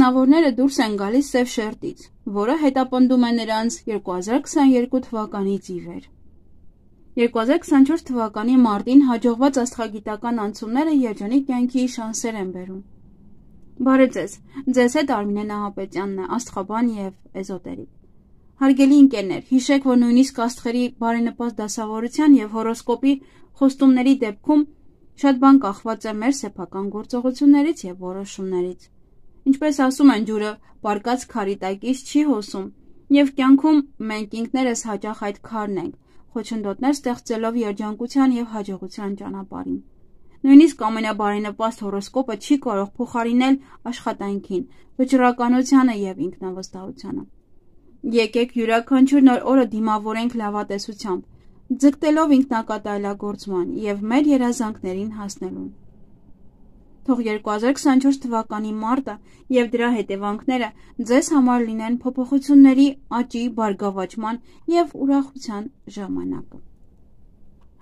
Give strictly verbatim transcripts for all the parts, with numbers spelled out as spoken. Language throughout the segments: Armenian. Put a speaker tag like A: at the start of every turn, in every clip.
A: Աղեղնավորները դուրս են գալիս սև շերտից, որը հետապնդում է նրանց երկու հազար քսաներկու թվականից ի վեր։ երկու հազար քսանչորս թվականի մարտին հաջողված աստղագիտական անցումները երջանիկ կյանքի շանսեր են բերում։ Բարև ձեզ, ձեզ հետ Արմինե Նահապետյանն է, աստղաբան և էզոտերիկ։ Հարգելի ընկերներ, հիշեք, որ նույնիսկ աստղերի բարենպաստ դասավորության և հորոսկոպի խոստումների դեպքում շատ բան կախված է մեր սեփական գործողություններից և որոշումներից։ Ինչպես ասում են, ջուրը պառկած քարի տակից չի հոսում, և կյանքում մենք ինքներս հաճախ այդ քարն ենք, խոչընդոտներ ստեղծելով երջանկության և հաջողության ճանապարհին։ Նույնիսկ ամենաբարենպաստ հորոսկոպը չի կարող փոխարինել աշխատանքին, վճռականությանը և ինքնավստահությանը։ Եկեք յուրաքանչյուր նոր օրը դիմավորենք լավատեսությամբ, ձգտելով ինքնակատարելագործման և մեր երազանքներին հասնելուն։ Թող երկու հազար քսանչորս թվականի մարտը և դրա հետևանքները ձեզ համար լինեն փոփոխությունների, աճի, բարգավաճման և ուրախության ժամանակը։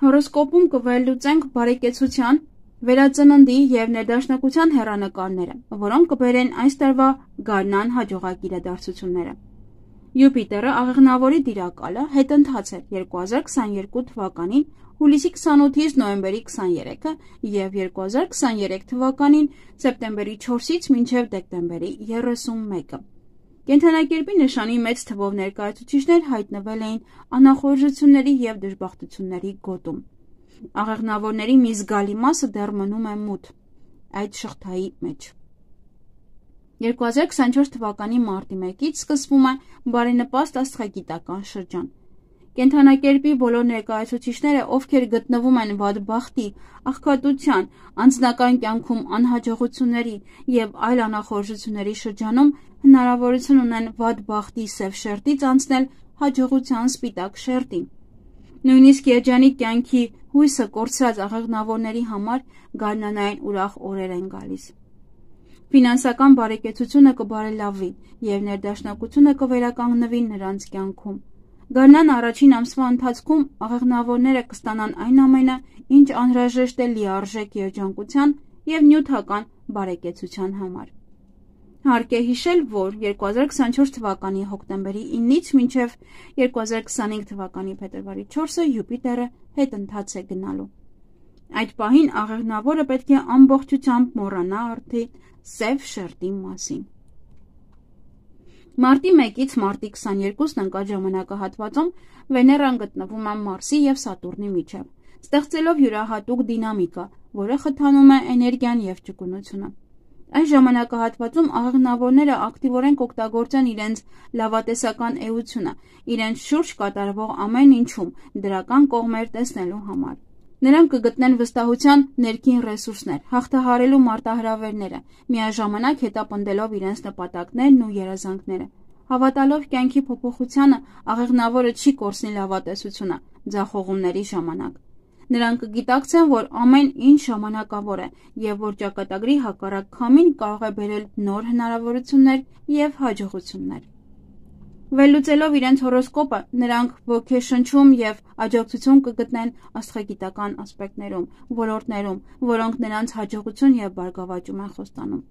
A: Հորոսկոպում կվերլուծենք բարեկեցության, վերածննդի և ներդաշնակության հեռանկարները, որոնք կբերեն այս տարվա գարնան հաջողակ իրադարձությունները։ Յուպիտերը աղեղնավորի տիրակալը հետընթաց է երկու հազար քսաներկու թվականին հուլիսի քսանութից նոյեմբերի քսաներեքը և երկու հազար քսաներեք թվականին սեպտեմբերի չորսից մինչև դեկտեմբերի երեսունմեկը։ Կենդանակերպի նշանի մեծ թվով ներկայացուցիչներ հայտնվել էին անախորժությունների և դժբախտությունների գոտում։ Աղեղնավորների մի զգալի մասը դեռ մնում է մութ այդ շղթայի մեջ։ երկու հազար քսանչորս թվականի մարտի մեկից սկսվում է բարենպաստ աստղագիտական շրջան։ Կենդանակերպի բոլոր ներկայացուցիչները, ովքեր գտնվում են վատ բախտի, աղքատության, անձնական կյանքում անհաջողությունների և այլ անախորժությունների շրջանում, հնարավորություն ունեն վատ բախտի սև շերտից անցնել հաջողության սպիտակ շերտին։ Նույնիսկ երջանիկ կյանքի հույսը կորցրած աղեղնավորների համար գարնանային ուրախ օրեր են գալիս։ Ֆինանսական բարեկեցությունը կբարելավվի և ներդաշնակությունը կվերականգնվի նրանց կյանքում։ Գարնան առաջին ամսվա ընթացքում աղեղնավորները կստանան այն ամենը, ինչ անհրաժեշտ է լիարժեք երջանկության և նյութական բարեկեցության համար։ Հարկ է հիշել, որ երկու հազար քսանչորս թվականի հոկտեմբերի իննից մինչև երկու հազար քսանինը թվականի փետրվարի չորսը Յուպիտերը հետընթաց է գնալու։ Այդ պահին աղեղնավորը պետք է ամբողջությամբ մոռանա արդի սև շերտի մասին։ Մարտի մեկից մարտի քսաներկուսն ընկած ժամանակահատվածում Վեներան գտնվում է Մարսի և Սատուրնի միջև, ստեղծելով յուրահատուկ դինամիկա, որը խթանում է էներգիան և ճկունությունը։ Այս ժամանակահատվածում աղեղնավորները ակտիվորեն կօգտագործեն իրենց լավատեսական էությունը, իրենց շուրջ կատարվող ամեն ինչում դրական կողմեր տեսնելու համար։ Նրանք կգտնեն վստահության ներքին ռեսուրսներ, հաղթահարելու մարտահրավերները, միաժամանակ հետապնդելով իրենց նպատակներն ու երազանքները։ Հավատալով կյանքի փոփոխությանը, աղեղնավորը չի կորցնի լավատեսությունը ձախողումների ժամանակ։ Նրանք կգիտակցեն, որ ամեն ինչ ժամանակավոր է և որ ճակատագրի հակառակ քամին կարող է բերել նոր հնարավորություններ և հաջողություններ։ Վերլուծելով իրենց հորոսկոպը, նրանք ոգեշնչում և աջակցություն կգտնեն աստղագիտական ասպեկտներում, ոլորտներում, որոնք նրանց հաջողություն և բարգավաճում են խոստանում։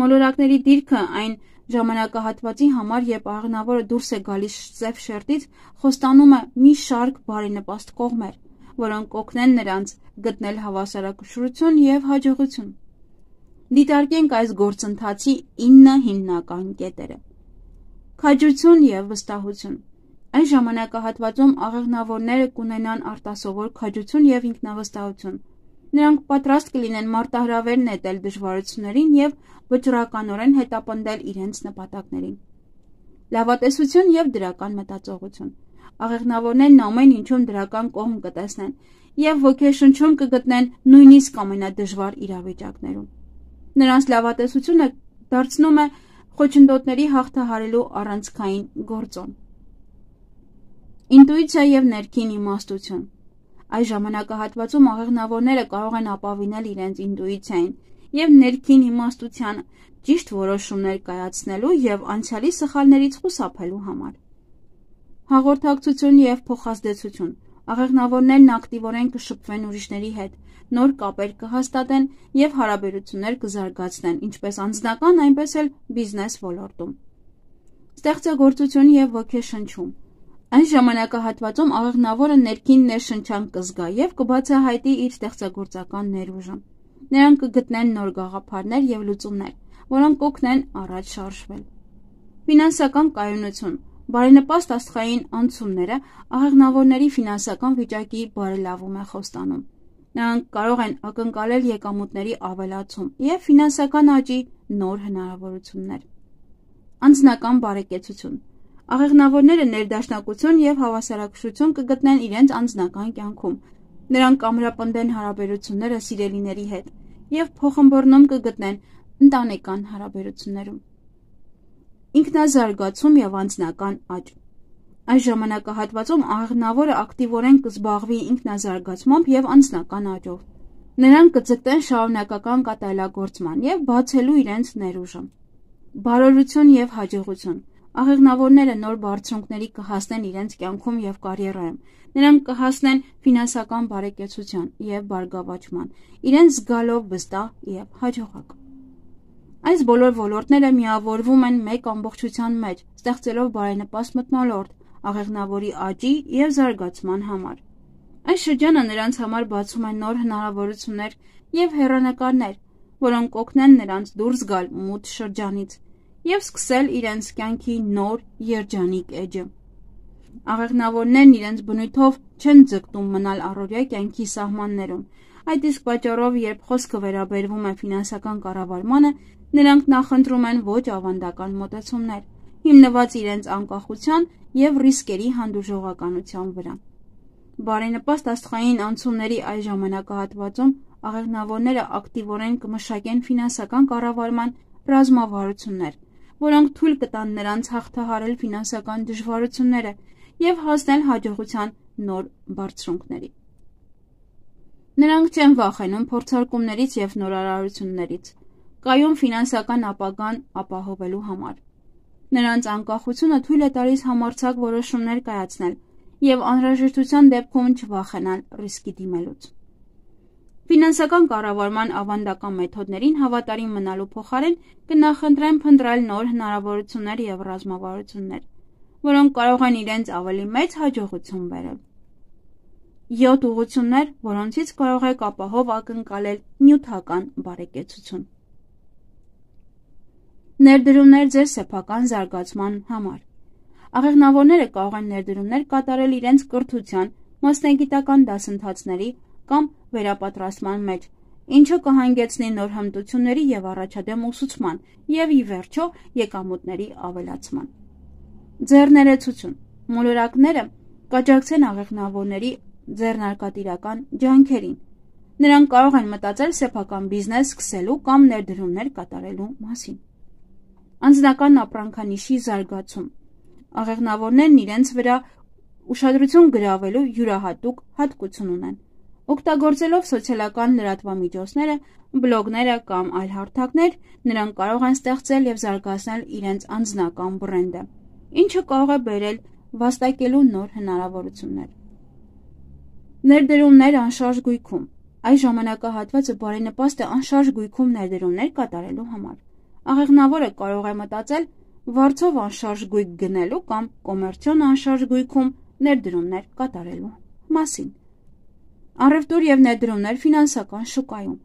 A: Մոլորակների դիրքը այն ժամանակահատվածի համար, երբ աղեղնավորը դուրս է գալիս սև շերտից, խոստանում է մի շարք բարենպաստ կողմեր, որոնք կօգնեն նրանց գտնել հավասարակշռություն և հաջողություն։ Դիտարկենք այս գործընթացի ինը հիմնական կետերը։ Քաջություն և վստահություն։ Այս ժամանակահատվածում աղեղնավորները կունենան արտասովոր քաջություն և ինքնավստահություն։ Նրանք պատրաստ կլինեն մարտահրավեր նետել դժվարություններին և վճռականորեն հետապնդել իրենց նպատակներին։ Լավատեսություն և դրական մտածողություն։ Աղեղնավորներն ամեն ինչում դրական կողմ կտեսնեն և ոգեշնչում կգտնեն նույնիսկ ամենադժվար իրավիճակներում։ Նրանց լավատեսությունը դարձնում է խոչընդոտների հաղթահարելու առանցքային գործոն։ Ինտուիցիա և ներքին իմաստություն։ Այս ժամանակահատվածում աղեղնավորները կարող են ապավինել իրենց ինտուիցիային և ներքին իմաստությանը ճիշտ որոշումներ կայացնելու և անցյալի սխալներից խուսափելու համար։ Հաղորդակցություն և փոխազդեցություն։ Աղեղնավորներն ակտիվորեն կշփվեն ուրիշների հետ, նոր կապեր կհաստատեն և հարաբերություններ կզարգացնեն, ինչպես անձնական, այնպես էլ բիզնես ոլորտում։ Ստեղծագործություն և ոգեշնչում։ Այս ժամանակահատվածում աղեղնավորը ներքին ներշնչանք կզգա և կբացահայտի իր ստեղծագործական ներուժը։ Նրանք կգտնեն նոր գաղափարներ և լուծումներ, որոնք կօգնեն առաջ շարժվել։ Ֆինանսական կայունություն։ Բարենպաստ աստղային անցումները աղեղնավորների ֆինանսական վիճակի բարելավում է խոստանում։ Նրանք կարող են ակնկալել եկամուտների ավելացում և ֆինանսական աճի նոր հնարավորություններ։ Անձնական բարեկեցություն։ Աղեղնավորները ներդաշնակություն և հավասարակշռություն կգտնեն իրենց անձնական կյանքում։ Նրանք կամրապնդեն հարաբերությունները սիրելիների հետ և փոխըմբըռնում կգտնեն ընտանեկան հարաբերություններում։ Ինքնազարգացում և անձնական աճ։ Այս ժամանակահատվածում աղեղնավորը ակտիվորեն կզբաղվի ինքնազարգացմամբ և անձնական աճով։ Նրանք կձգտեն շարունակական կատարելագործման և բացելու իրենց ներուժը։ Բարօրություն և հաջողություն։ Աղեղնավորները նոր բարձունքների կհասնեն իրենց կյանքում և կարիերայում։ Նրանք կհասնեն ֆինանսական բարեկեցության և բարգավաճման, իրենց զգալով վստահ և հաջողակ։ Այս բոլոր ոլորտները միավորվում են մեկ ամբողջության մեջ, ստեղծելով բարենպաստ մթնոլորտ աղեղնավորի աճի և զարգացման համար։ Այս շրջանը նրանց համար բացում է նոր հնարավորություններ և հեռանկարներ, որոնք կօգնեն նրանց դուրս գալ մութ շրջանից և սկսել իրենց կյանքի նոր երջանիկ էջը։ Աղեղնավորներն իրենց բնույթով չեն ձգտում մնալ առօրյա կյանքի սահմաններում։ Այդ իսկ պատճառով, երբ խոսքը վերաբերվում է ֆինանսական կառավարմանը, նրանք նախընտրում են ոչ ավանդական մոտեցումներ, հիմնված իրենց անկախության և ռիսկերի հանդուրժողականության վրա։ Բարենպաստ աստղային անցումների այս ժամանակահատվածում աղեղնավորները ակտիվորեն կմշակեն ֆինանսական կառավարման ռազմավարություններ, որոնք թույլ կտան նրանց հաղթահարել ֆինանսական դժվարությունները և հասնել հաջողության նոր բարձունքների։ Նրանք չեն վախենում փորձարկումներից և նորարարություններից, կայուն ֆինանսական ապագան ապահովելու համար։ Նրանց անկախությունը թույլ է տալիս համարձակ որոշումներ կայացնել և անհրաժեշտության դեպքում չվախենալ ռիսկի դիմելուց։ Ֆինանսական կառավարման ավանդական մեթոդներին հավատարիմ մնալու փոխարեն կնախընտրեն փնտրել նոր հնարավորություններ և ռազմավարություններ, որոնք կարող են իրենց ավելի մեծ հաջողություն բերել։ Յոթ ուղղություններ, որոնցից կարող եք ապահով ակնկալել նյութական բարեկեցություն։ Ներդրումներ ձեր սեփական զարգացման համար։ Աղեղնավորները կարող են ներդրումներ կատարել իրենց կրթության, մասնագիտական դասընթացների կամ վերապատրաստման մեջ, ինչը կհանգեցնի նոր հմտությունների և առաջադեմ ուսուցման և, ի վերջո, եկամուտների ավելացման։ Ձեռներեցություն։ Մոլորակները կաջակցեն աղեղնավորների ձեռնարկատիրական ջանքերին։ Նրանք կարող են մտածել սեփական բիզնես սկսելու կամ ներդրումներ կատարելու մասին։ Անձնական ապրանքանիշի զարգացում։ Աղեղնավորներն իրենց վրա ուշադրություն գրավելու յուրահատուկ հատկություն ունեն։ Օգտագործելով սոցիալական լրատվամիջոցները, բլոգները կամ այլ հարթակներ, նրանք կարող են ստեղծել և զարգացնել իրենց անձնական բրենդը, ինչը կարող է բերել վաստակելու նոր հնարավորություններ։ Ներդրումներ անշարժ գույքում։ Այս ժամանակահատվածը բարենպաստ է անշարժ գույքում ներդրումներ կատարելու համար։ Աղեղնավորը կարող է մտածել վարձով անշարժ գույք գնելու կամ կոմերցիոն անշարժ գույքում ներդրումներ կատարելու մասին։ Առևտուր և ներդրումներ ֆինանսական շուկայում։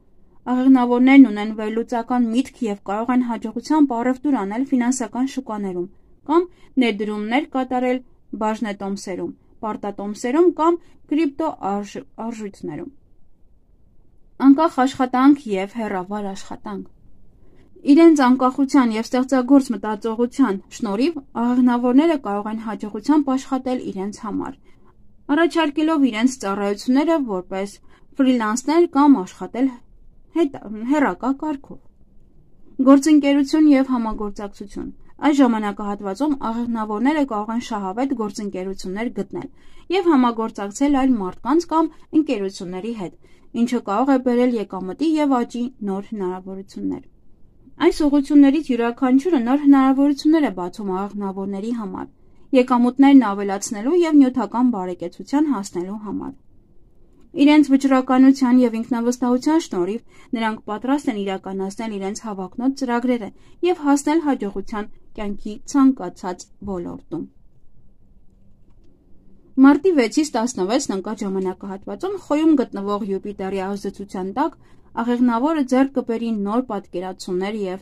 A: Աղեղնավորներն ունեն վերլուծական միտք և կարող են հաջողությամբ առևտուր անել ֆինանսական շուկաներում կամ ներդրումներ կատարել բաժնետոմսերում, պարտատոմսերում կամ կրիպտո արժույթներում։ Անկախ աշխատանք և հեռավար աշխատանք։ Իրենց անկախության և ստեղծագործ մտածողության շնորհիվ աղեղնավորները կարող են հաջողությամբ աշխատել իրենց համար, առաջարկելով իրենց ծառայությունները որպես ֆրիլանսեր կամ աշխատել հեռակա կարգով։ Գործընկերություն և համագործակցություն։ Այս ժամանակահատվածում աղեղնավորները կարող են շահավետ գործընկերություններ գտնել և համագործակցել այլ մարդկանց կամ ընկերությունների հետ, ինչը կարող է բերել եկամտի և աճի նոր հնարավորություններ։ Այս ուղղություններից յուրաքանչյուրը նոր հնարավորություններ է բացում աղեղնավորների համար եկամուտներն ավելացնելու և նյութական բարեկեցության հասնելու համար։ Իրենց վճռականության և ինքնավստահության շնորհիվ նրանք պատրաստ են իրականացնել իրենց հավակնոտ ծրագրերը և հասնել հաջողության կյանքի ցանկացած ոլորտում։ Մարտի վեցից տասնվեցն ընկած ժամանակահատվածում Խոյում գտնվող Յուպիտերի ազդեցության տակ աղեղնավորը ձեռք կբերի նոր պատկերացումներ և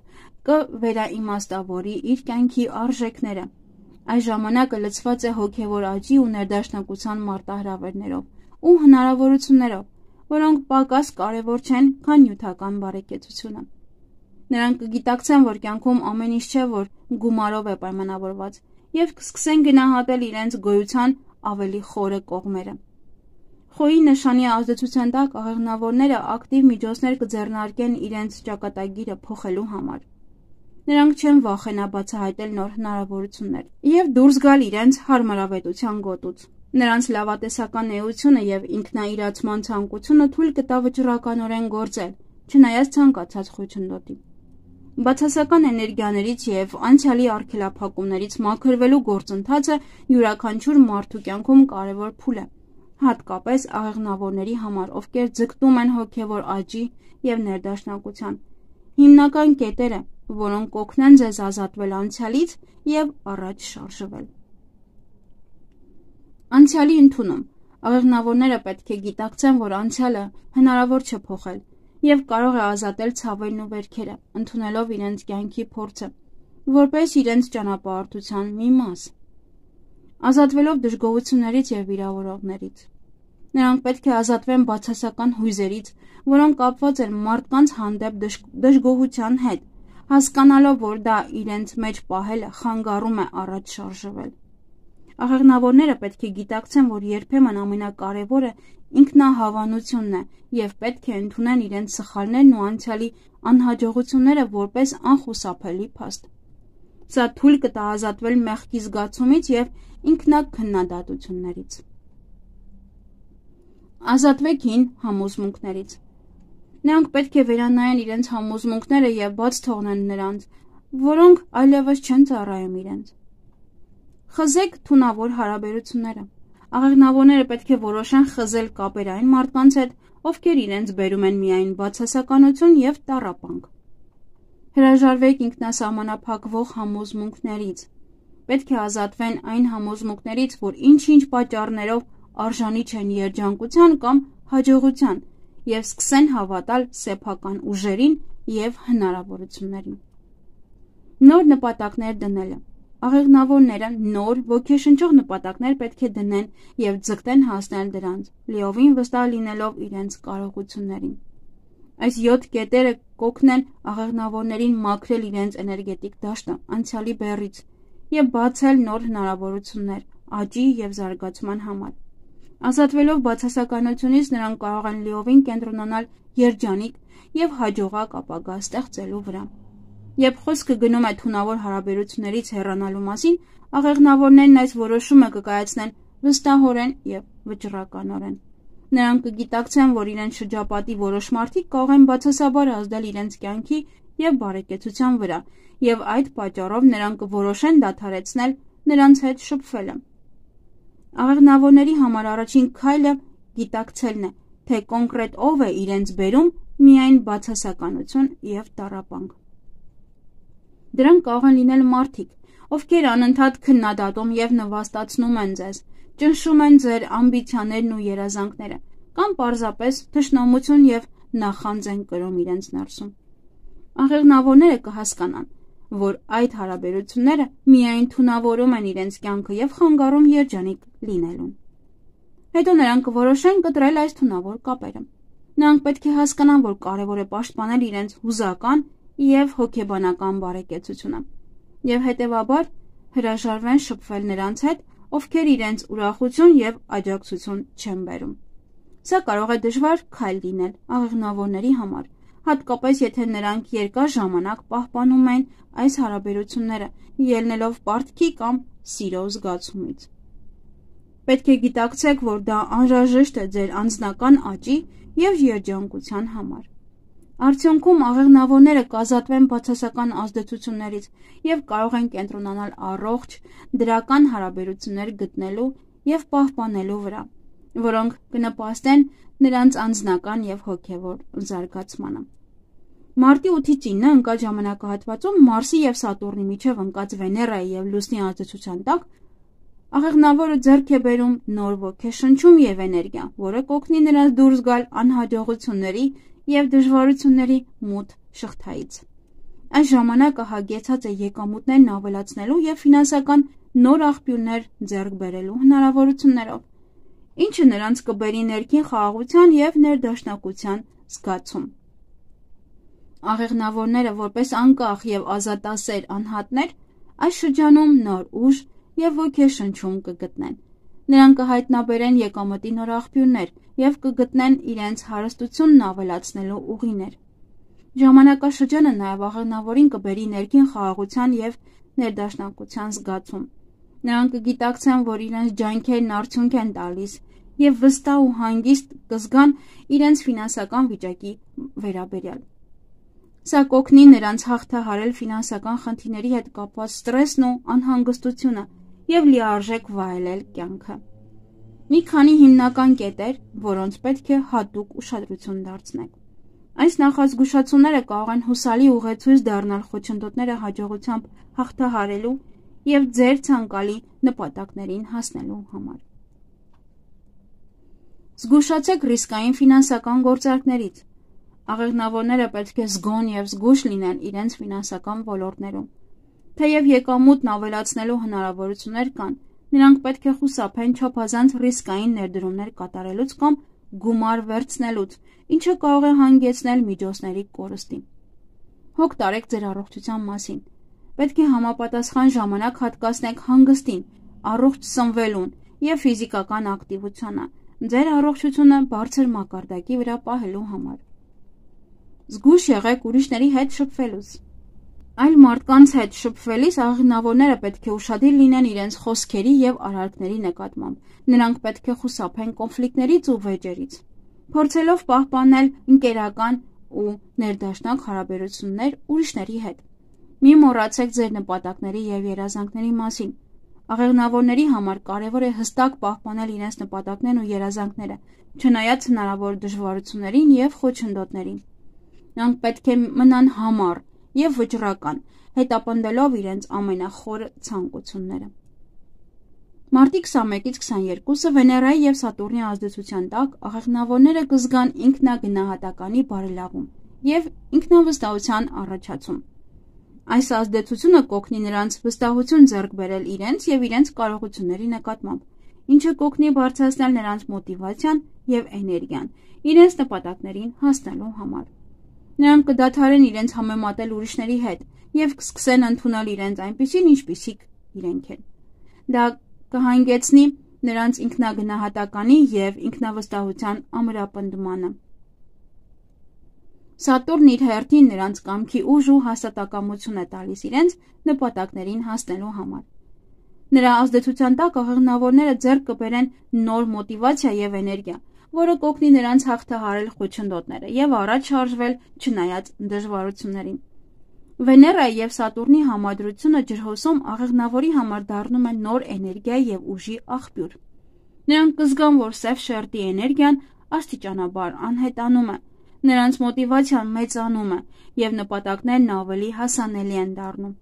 A: կվերաիմաստավորի իր կյանքի արժեքները։ Այս ժամանակը լցված է հոգևոր աճի ու ներդաշնակության մարտահրավերներով ու հնարավորություններով, որոնք պակաս կարևոր չեն, քան նյութական բարեկեցությունը։ Նրանք կգիտակցեն, որ կյանքում ամեն ինչ չէ, որ գումարով է պայմանավորված, և կսկսեն գնահատել իրենց գոյության ավելի խորը կողմերը։ Խոյի նշանի ազդեցության տակ աղեղնավորները ակտիվ միջոցներ կձեռնարկեն իրենց ճակատագիրը փոխելու համար։ Նրանք չեն վախենա բացահայտել նոր հնարավորություններ և դուրս գալ իրենց հարմարավետության գոտուց։ Նրանց լավատեսական էությունը և ինքնաիրացման ցանկությունը թույլ կտա վճռականորեն գործել, չնայած ցանկացած խոչընդոտի։ Բացասական էներգիաներից և անցյալի արգելափակումներից մաքրվելու գործընթացը յուրաքանչյուր մարդու կյանքում կարևոր փուլ է, հատկապես աղեղնավորների համար, ովքեր ձգտում են հոգևոր աճի և ներդաշնակության, հիմնական կետերը, որոնք կօգնեն ձեզ ազատվել անցյալից և առաջ շարժվել։ Անցյալի ընդունում։ Աղեղնավորները պետք է գիտակցեն, որ անցյալը հնարավոր չէ փոխել և կարող է ազատել ցավերն ու վերքերը, ընդունելով իրենց կյանքի փորձը, որպես իրենց ճանապարհորդության մի մաս, ազատվելով դժգոհություններից և վիրավորողներից։ Նրանք պետք է ազատվեն բացասական հույզերից, որոնք կապված են մարդկանց հանդեպ դժգոհության հետ, հասկանալով, որ դա իրենց մեջ պահելը խանգարում է առաջ շարժվել։ Աղեղնավորները պետք է գիտակցեն, որ երբեմն ամենակարևորը ինքնահավանությունն է և պետք է ընդունեն իրենց սխալներն ու անցյալի անհաջողությունները որպես անխուսափելի փաստ։ Սա թույլ կտա ազատվել մեղքի զգացումից և ինքնաքննադատություններից։ Ազատվեք հին համոզմունքներից։ Նրանք պետք է վերանայեն իրենց համոզմունքները և բաց թողնեն նրանց, որոնք այլևս չեն ծառայում իրենց։ Խզեք թունավոր հարաբերությունները։ Աղեղնավորները պետք է որոշեն խզել կապեր այն մարդկանց հետ, ովքեր իրենց բերում են միայն բացասականություն և տառապանք։ Հրաժարվեք ինքնասահմանափակվող համոզմունքներից։ Պետք է ազատվեն այն համոզմունքներից, որ ինչ-ինչ պատճառներով արժանի չեն երջանկության կամ հաջողության, և սկսեն հավատալ սեփական ուժերին և հնարավորություններին։ Նոր նպատակներ դնելը։ Աղեղնավորները նոր ոգեշնչող նպատակներ պետք է դնեն և ձգտեն հասնել դրանց, լիովին վստահ լինելով իրենց կարողություններին։ Այս յոթ կետերը կօգնեն աղեղնավորներին մաքրել իրենց էներգետիկ դաշտը անցյալի բեռից և բացել նոր հնարավորություններ աճի և զարգացման համար։ Ազատվելով բացասականությունից նրանք կարող են լիովին կենտրոնանալ երջանիկ և հաջողակ ապագա ստեղծելու վրա։ Երբ խոսքը գնում է թունավոր հարաբերություններից հեռանալու մասին, աղեղնավորներն այս որոշումը կկայացնեն վստահորեն և վճռականորեն։ Նրանք կգիտակցեն, որ իրենց շրջապատի որոշ մարդիկ կարող են բացասաբար ազդել իրենց կյանքի և բարեկեցության վրա, և այդ պատճառով նրանք կորոշեն դադարեցնել նրանց հետ շփվելը։ Աղեղնավորների համար առաջին քայլը գիտակցելն է, թե կոնկրետ ով է իրենց բերում միայն բացասականություն և տառապանք։ Դրանք կարող են լինել մարդիկ, ովքեր անընդհատ քննադատում և նվաստացնում են ձեզ, ճնշում են ձեր ամբիցիաներն ու երազանքները, կամ պարզապես թշնամություն և նախանձ են կրում իրենց ներսում։ Աղեղնավորները կհասկանան, որ այդ հարաբերությունները միայն թունավորում են իրենց կյանքը և խանգարում երջանիկ լինելուն։ Հետո նրանք կորոշեն կտրել այս թունավոր կապերը։ Նրանք պետք է հասկանան, որ կարևոր է պաշտպանել իրենց հուզական և հոգեբանական բարեկեցությունը, և հետևաբար հրաժարվեն շփվել նրանց հետ, ովքեր իրենց ուրախություն և աջակցություն չեն բերում։ Սա կարող է դժվար քայլ լինել աղեղնավորների համար, հատկապես եթե նրանք երկար ժամանակ պահպանում են այս հարաբերությունները, ելնելով պարտքի կամ սիրո զգացումից։ Պետք է գիտակցեք, որ դա անհրաժեշտ է ձեր անձնական աճի և երջանկության համար։ Արդյունքում աղեղնավորները կազատվեն բացասական ազդեցություններից և կարող են կենտրոնանալ առողջ, դրական հարաբերություններ գտնելու և պահպանելու վրա, որոնք կնպաստեն նրանց անձնական և հոգևոր զարգացմանը։ Մարտի ութից ինը ընկած ժամանակահատվածում Մարսի և Սատուրնի միջև ընկած Վեներայի և Լուսնի ազդեցության տակ աղեղնավորը ձեռք է բերում նոր ոգեշնչում և էներգիա, որը կօգնի նրանց դուրս գալ անհաջողությունների և դժվարությունների մութ շղթայից։ Այս ժամանակը հագեցած է եկամուտներն ավելացնելու և ֆինանսական նոր աղբյուրներ ձեռք բերելու հնարավորություններով, ինչը նրանց կբերի ներքին խաղաղության և ներդաշնակության զգացում։ Աղեղնավորները որպես անկախ և ազատասեր անհատներ այս շրջանում նոր ուժ և ոգեշնչում կգտնեն։ Նրանք կհայտնաբերեն եկամտի նոր աղբյուրներ և կգտնեն իրենց հարստությունն ավելացնելու ուղիներ։ Ժամանակաշրջանը նաև աղեղնավորին կբերի ներքին խաղաղության և ներդաշնակության զգացում։ Նրանք կգիտակցեն, որ իրենց ջանքերն արդյունք են տալիս և վստահ ու հանգիստ կզգան իրենց ֆինանսական վիճակի վերաբերյալ։ Սա կօգնի նրանց հաղթահարել ֆինանսական խնդիրների հետ կապված սթրեսն ու անհանգստությունը և լիարժեք վայելել կյանքը։ Մի քանի հիմնական կետեր, որոնց պետք է հատուկ ուշադրություն դարձնեք։ Այս նախազգուշացումները կարող են հուսալի ուղեցույց դառնալ խոչընդոտները հաջողությամբ հաղթահարելու և ձեր ցանկալի նպատակներին հասնելու համար։ Զգուշացեք ռիսկային ֆինանսական գործարքներից։ Աղեղնավորները պետք է զգոն և զգույշ լինեն իրենց ֆինանսական ոլորտներում։ Թեև եկամուտն ավելացնելու հնարավորություններ կան, նրանք պետք է խուսափեն չափազանց ռիսկային ներդրումներ կատարելուց կամ գումար վերցնելուց, ինչը կարող է հանգեցնել միջոցների կորստի։ Հոգ տարեք ձեր առողջության մասին։ Պետք է համապատասխան ժամանակ հատկացնեք հանգստին, առողջ սնվելուն և ֆիզիկական ակտիվությանը, ձեր առողջությունը բարձր մակարդակի վրա պահելու համար։ Զգույշ եղեք ուրիշների հետ շփվելուց։ Այլ մարդկանց հետ շփվելիս աղեղնավորները պետք է ուշադիր լինեն իրենց խոսքերի և արարքների նկատմամբ։ Նրանք պետք է խուսափեն կոնֆլիկտներից ու վեճերից, փորձելով պահպանել ընկերական ու ներդաշնակ հարաբերություններ ուրիշների հետ։ Մի մոռացեք ձեր նպատակների և երազանքների մասին։ Աղեղնավորների համար կարևոր է հստակ պահպանել իրենց նպատակներն ու երազանքները, չնայած հնարավոր դժվարություններին և խոչընդոտներին։ Նրանք պետք է մնան համառ և վճռական, հետապնդելով իրենց ամենախորը ցանկությունները։ Մարտի քսանմեկից քսաներկուսը Վեներայի և Սատուրնի ազդեցության տակ աղեղնավորները կզգան ինքնագնահատականի բարելավում և ինքնավստահության առաջացում։ Այս ազդեցությունը կօգնի նրանց վստահություն ձեռք բերել իրենց և իրենց կարողությունների նկատմամբ, ինչը կօգնի բարձրացնել նրանց մոտիվացիան և էներգիան իրենց նպատակներին հասնելու համար։ Նրանք կդադարեն իրենց համեմատել ուրիշների հետ և կսկսեն ընդունել իրենց այնպիսին, ինչպիսիք իրենք են։ Դա կհանգեցնի նրանց ինքնագնահատականի և ինքնավստահության ամրապնդմանը։ Սատուրնն իր հերթին նրանց կամքի ուժ ու հաստատակամություն է տալիս իրենց նպատակներին հասնելու համար։ Նրա ազդեցության տակ աղեղնավորները ձեռք կբերեն նոր մոտիվացիա և էներգիա, որը կօգնի նրանց հաղթահարել խոչընդոտները և առաջ շարժվել չնայած դժվարություններին։ Վեներայի և Սատուրնի համադրությունը ջրհոսում աղեղնավորի համար դառնում է նոր էներգիայի և ուժի աղբյուր։ Նրանք կզգան, որ սև շերտի էներգիան աստիճանաբար անհետանում է, նրանց մոտիվացիան մեծանում է և նպատակներն ավելի հասանելի են դառնում։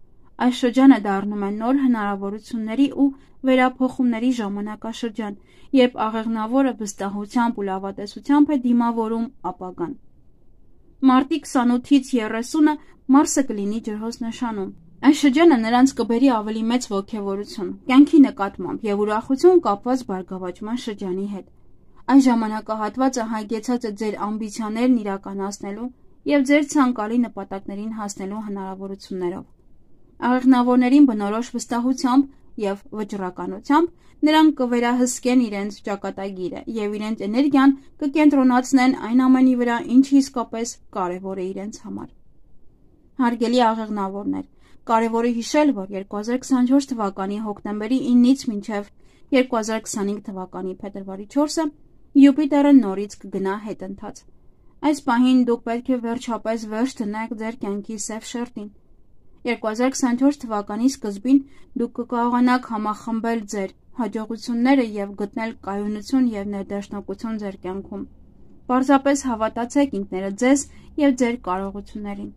A: Այս շրջանը դառնում է նոր հնարավորությունների ու վերափոխումների ժամանակաշրջան, երբ աղեղնավորը վստահությամբ ու լավատեսությամբ է դիմավորում ապագան։ Մարտի քսանութից երեսունը Մարսը կլինի ջրհոս նշանում։ Այս շրջանը նրանց կբերի ավելի մեծ ոգևորություն, կյանքի նկատմամբ և ուրախություն կապված բարգավաճման շրջանի հետ։ Այս ժամանակահատվածը հագեցած է ձեր ամբիցիաներն իրականացնելու և ձեր ցանկալի նպատակներին հասնելու հնարավորություններով։ Աղեղնավորներին բնորոշ վստահությամբ և վճռականությամբ նրանք կվերահսկեն իրենց ճակատագիրը և իրենց էներգիան կկենտրոնացնեն այն ամենի վրա, ինչը իսկապես կարևոր է իրենց համար։ Հարգելի աղեղնավորներ, կարևոր է հիշել, որ երկու հազար քսանչորս թվականի հոկտեմբերի իննից մինչև երկու հազար քսանհինգ թվականի փետրվարի չորսը Յուպիտերը նորից կգնա հետընթաց։ Այս պահին դուք պետք է վերջապես վերջ դնեք ձեր կյանքի սև շերտին։ երկու հազար քսանչորս թվականի սկզբին դուք կկարողանաք համախմբել ձեր հաջողությունները և գտնել կայունություն և ներդաշնակություն ձեր կյանքում։ Պարզապես հավատացեք ինքներդ ձեզ և ձեր կարողություններին։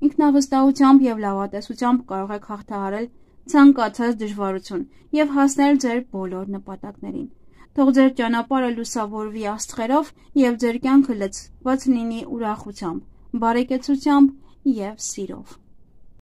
A: Ինքնավստահությամբ և լավատեսությամբ կարող եք հաղթահարել ցանկացած դժվարություն և հասնել ձեր բոլոր նպատակներին։ Թող ձեր ճանապարհը լուսավորվի աստղերով և ձեր կյանքը լցված լինի ուրախությամբ, բարեկեցությամբ և սիրով։